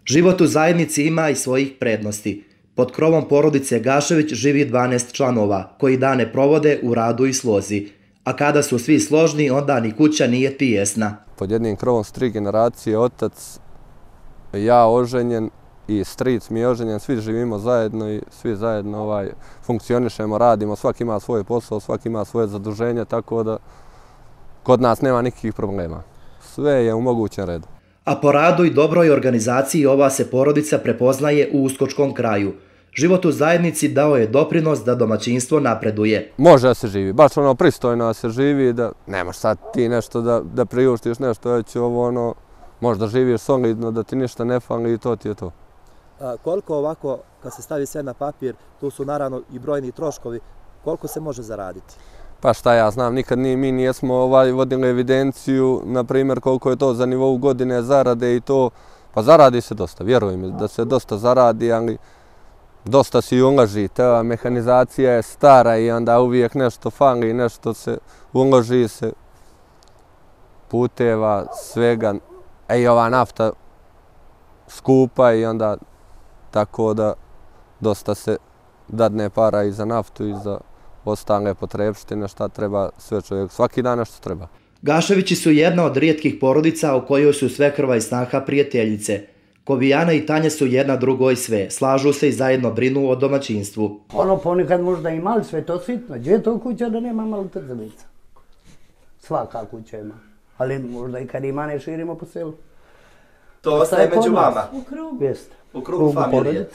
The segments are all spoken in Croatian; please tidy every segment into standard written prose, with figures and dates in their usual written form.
Život u zajednici ima i svojih prednosti. Pod krovom porodice Gašević živi 12 članova, koji dane provode u radu i slozi. A kada su svi složni, onda ni kuća nije tijesna. Pod jednim krovom su 3 generacije, otac, ja oženjen i stric mi je oženjen, svi živimo zajedno i svi zajedno funkcionišemo, radimo, svaki ima svoj posao, svaki ima svoje zaduženje, tako da kod nas nema nikakvih problema. Sve je u mogućem redu. A po radu i dobroj organizaciji ova se porodica prepoznaje u Uskočkom kraju. Život u zajednici dao je doprinos da domaćinstvo napreduje. Može da se živi, baš pristojno da se živi, da nemaš sad ti nešto da priuštiš nešto, već možda živiš solidno, da ti ništa ne fali i to ti je to. Koliko ovako, kad se stavi sve na papir, tu su naravno i brojni troškovi, koliko se može zaraditi? Pa šta ja znam, nikad mi nijesmo vodili evidenciju, na primjer koliko je to za nivou godine zarade i to, pa zaradi se dosta, vjeruj mi da se dosta zaradi, ali dosta se i uloži, ta mehanizacija je stara i onda uvijek nešto fali, nešto se uloži se, puteva, svega, i ova nafta skupa i onda tako da dosta se dadne para i za naftu i za ostale potrebštine, šta treba sve čovjek, svaki dan nešto treba. Gaševići su jedna od rijetkih porodica u kojoj su svekrva i snaha prijateljice. Kovijana i Tanja su jedna drugoj sve, slažu se i zajedno brinu o domaćinstvu. Ponekad možda i mali, sve to sitno. Gdje je to kuća da nema malo trzalica? Svaka kuća ima. Ali možda i kad ima ne širimo po selu. To ostaje među vama? U krugu. Jeste. U krugu familije.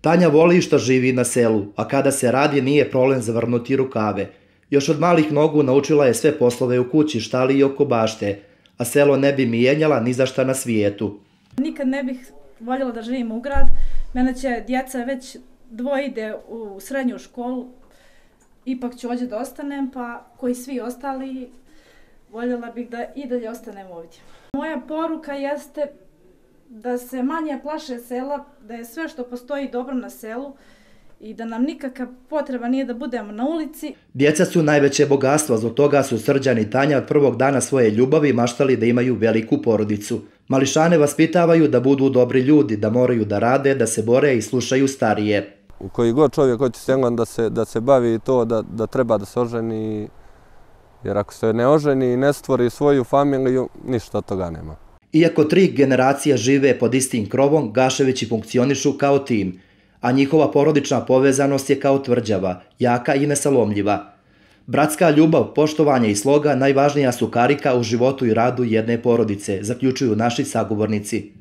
Tanja voli što živi na selu, a kada se radi nije problem zavrnuti rukave. Još od malih nogu naučila je sve poslove u kući, štali i oko bašte, a selo ne bi mijenjala ni za šta na svijetu. Nikad ne bih voljela da živim u grad. Mene će djeca već dvoje ide u srednju školu. Ipak ću ovdje da ostanem, pa koji svi ostali, voljela bih da i dalje ostanem ovdje. Moja poruka jeste da se manje plaše sela, da je sve što postoji dobro na selu i da nam nikakva potreba nije da budemo na ulici. Djeca su najveće bogatstvo, zbog toga su Srđan i Tanja od prvog dana svoje ljubavi maštali da imaju veliku porodicu. Mališane vaspitavaju da budu dobri ljudi, da moraju da rade, da se bore i slušaju starije. U koji god čovjek hoće selom da se bavi to, da treba da se oženi, jer ako se ne oženi i ne stvori svoju familiju, ništa od toga nema. Iako 3 generacije žive pod istim krovom, Gaševići funkcionišu kao tim, a njihova porodična povezanost je kao tvrđava, jaka i nesalomljiva. Bratska ljubav, poštovanje i sloga najvažnija su karika u životu i radu jedne porodice, zaključuju naši sagovornici.